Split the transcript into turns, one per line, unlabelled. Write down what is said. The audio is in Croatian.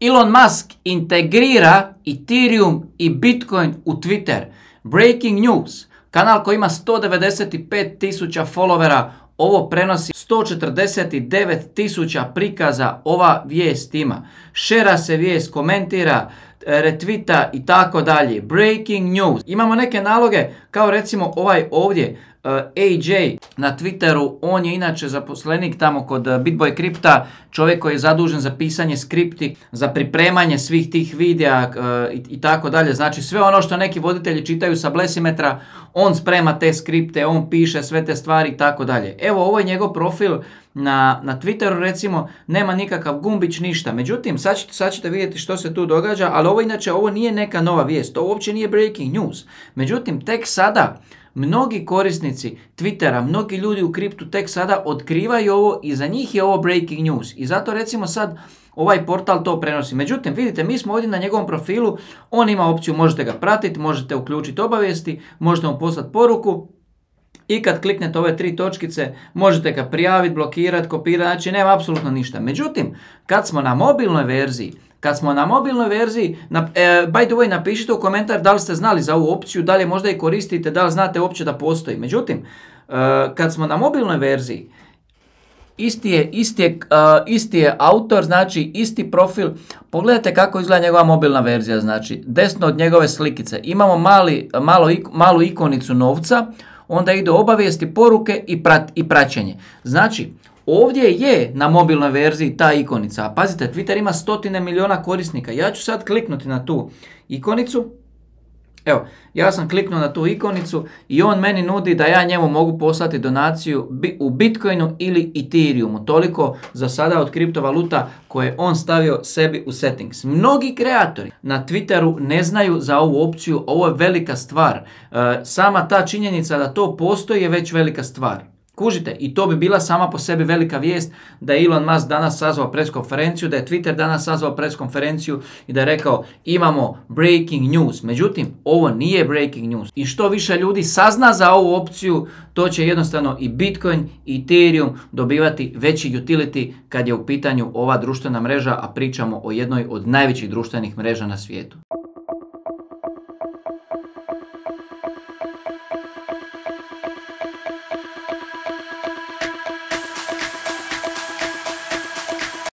Elon Musk integrira Ethereum i Bitcoin u Twitter. Breaking news. Kanal koji ima 195.000 followera, ovo prenosi 149.000 prikaza, ova vijest ima. Šera se vijest, komentira, retvita i tako dalje. Breaking news. Imamo neke naloge kao recimo ovaj ovdje. AJ na Twitteru, on je inače zaposlenik tamo kod BitBoy Crypta, čovjek koji je zadužen za pisanje skripti, za pripremanje svih tih videa i tako dalje. Znači sve ono što neki voditelji čitaju sa Blesimetra, on sprema te skripte, on piše sve te stvari i tako dalje. Evo, ovo je njegov profil na Twitteru, recimo, nema nikakav gumbić, ništa. Međutim, sad ćete vidjeti što se tu događa, ali ovo nije neka nova vijest, to uopće nije breaking news. Međutim, tek sada mnogi korisnici Twittera, mnogi ljudi u kriptu tek sada otkrivaju ovo i za njih je ovo breaking news. I zato recimo sad ovaj portal to prenosi. Međutim, vidite, mi smo ovdje na njegovom profilu, on ima opciju, možete ga pratiti, možete uključiti obavijesti, možete mu poslati poruku. I kad kliknete ove 3 točkice, možete ga prijaviti, blokirati, kopirati, znači nema apsolutno ništa. Međutim, kad smo na mobilnoj verziji, by the way, napišite u komentar da li ste znali za ovu opciju, da li je možda i koristite, da li znate uopće da postoji. Međutim, kad smo na mobilnoj verziji, isti je autor, znači isti profil. Pogledajte kako izgleda njegova mobilna verzija, znači desno od njegove slikice imamo malu ikonicu novca, onda idu obavijesti, poruke i praćenje. Znači, ovdje je na mobilnoj verziji ta ikonica, a pazite, Twitter ima 100 milijuna korisnika. Ja ću sad kliknuti na tu ikonicu. Evo, ja sam kliknuo na tu ikonicu i on meni nudi da ja njemu mogu poslati donaciju u Bitcoinu ili Ethereumu. Toliko za sada od kriptovaluta koje on stavio sebi u settings. Mnogi kreatori na Twitteru ne znaju za ovu opciju, ovo je velika stvar. Sama ta činjenica da to postoji je već velika stvar. Kužite, i to bi bila sama po sebi velika vijest da je Elon Musk danas sazvao pres konferenciju, da je Twitter danas sazvao pres konferenciju i da je rekao imamo breaking news. Međutim, ovo nije breaking news. I što više ljudi sazna za ovu opciju, to će jednostavno i Bitcoin i Ethereum dobivati veći utility kad je u pitanju ova društvena mreža, a pričamo o jednoj od najvećih društvenih mreža na svijetu.